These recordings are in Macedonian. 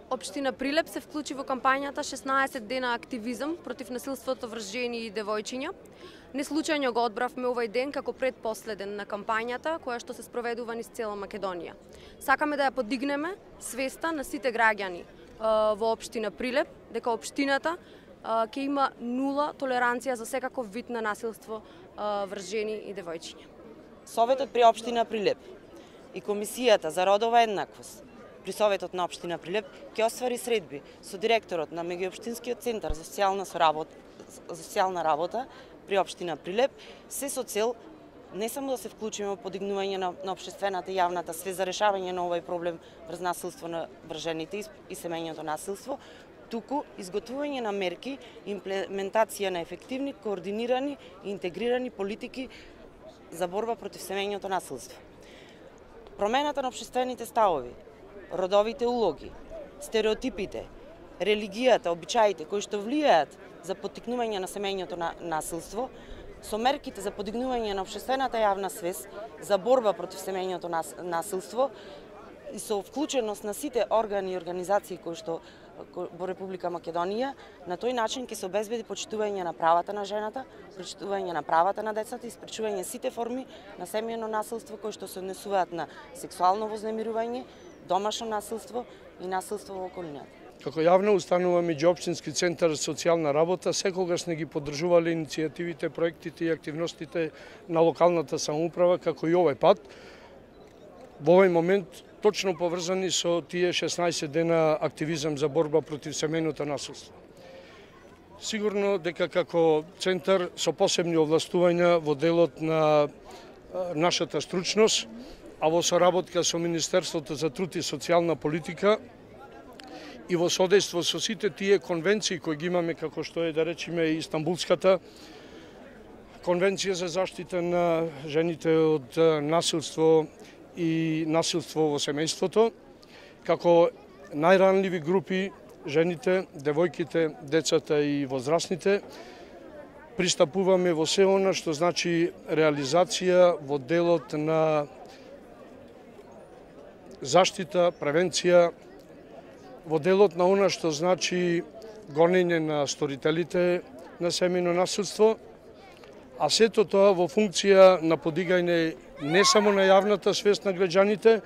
Општина Прилеп се вклучи во кампањата 16 дена активизам против насилството врз жени и девојчиња. Неслучајно го одбравме овој ден како предпоследен на кампањата, која што се спроведува низ цела Македонија. Сакаме да ја подигнеме свеста на сите граѓани во општина Прилеп, дека општината ќе има нула толеранција за секаков вид на насилство врз жени и девојчиња. Советот при општина Прилеп и Комисијата за родова еднаквост при Советот на општина Прилеп ќе оствари средби со директорот на Меѓуопштинскиот центар за социјална работа при општина Прилеп, се со цел не само да се вклучиме во подигнување на општествената и јавната свест за решавање на овој проблем врз насилство врз жените и семејното насилство, туку изготвување на мерки и имплементација на ефективни, координирани и интегрирани политики за борба против семејното насилство. Промената на општествените ставови, родовите улоги, стереотипите, религијата, обичаите кои што влијаат за поттикнување на семејното насилство, со мерките за подигнување на општествената јавна свест за борба против семејното насилство и со вклученост на сите органи и организации кои што во Република Македонија, на тој начин ќе се обезбеди почитување на правата на жената, почитување на правата на децата и спречување сите форми на семејно насилство кои што се однесуваат на сексуално вознемирување, домашно насилство и насилство во околината. Како јавна установа Меѓуопштински центар за социјална работа секогаш не ги поддржувале иницијативите, проектите и активностите на локалната самоуправа, како и овој пат. Во овој момент точно поврзани со тие 16 дена активизам за борба против семејното насилство. Сигурно дека како центар со посебни овластувања во делот на нашата стручност, а во соработка со Министерството за труд и социјална политика и во содејство со сите тие конвенции кои ги имаме, како што е да речеме и Истанбулската конвенција за заштита на жените од насилство и насилство во семејството, како најранливи групи, жените, девојките, децата и возрастните, пристапуваме во се она што значи реализација во делот на заштита, превенција, во делот на она што значи гонење на сторителите на семејно насилство, а сето тоа во функција на подигање не само на јавната свест на граѓаните,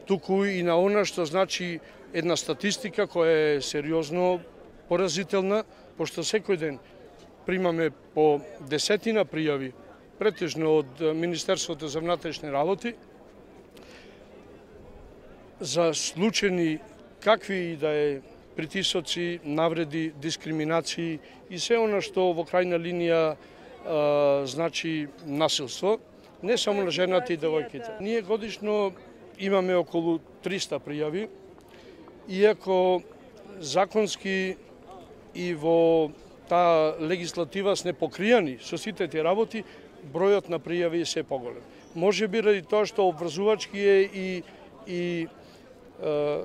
туку и на она што значи една статистика која е сериозно поразителна, пошто секој ден примаме по десетина пријави, претежно од Министерството за внатрешни работи, за случаи какви и да е притисоци, навреди, дискриминации и се она што во крајна линија значи насилство, не само на жената и девојките. Ние годишно имаме околу 300 пријави, иако законски и во таа легислатива сме покријани со сите тие работи, бројот на пријави е се поголем. Може би ради тоа што обврзувачки е и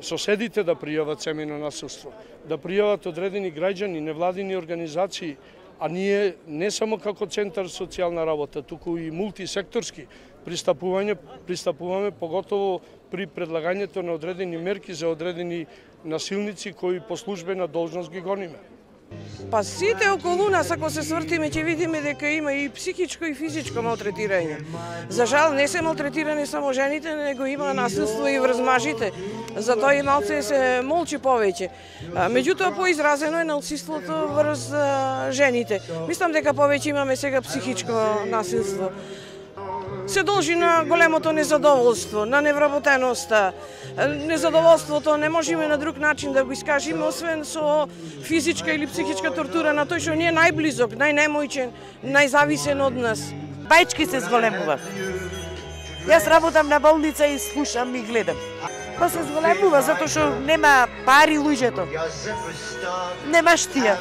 соседите да пријават семејно насилство, да пријават одредени граѓани, невладини организации, а ние не само како Центар социјална работа, туку и мултисекторски пристапуваме поготово при предлагањето на одредени мерки за одредени насилници кои по службена должност ги гониме. Па сите околу нас, ако се свртиме, ќе видиме дека има и психичко и физичко малтретирање. За жал, не се малтретирани само жените, него има насилство и врз мажите. Затоа и малце се молчи повеќе. Меѓутоа, поизразено е насилството врз жените. Мислам дека повеќе имаме сега психичко насилство. Се должи на големото незадоволство, на невработеноста. Незадоволството не можеме на друг начин да го искажеме, освен со физичка или психичка тортура на тој што ни е најблизок, најнемојчен, најзависен од нас. Бајчки се зголемува. Јас работам на болница и слушам и гледам. Па се зголемува затоа што нема пари луѓето. Нема штија.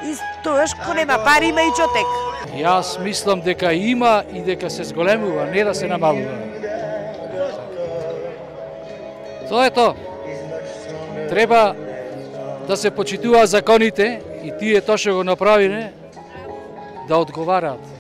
И тоаш кога нема пари има и чотек. Јас мислам дека има и дека се зголемува, не да се намалува. Тоа е тоа. Треба да се почитуваат законите и тие тоа што го направиле да одговараат.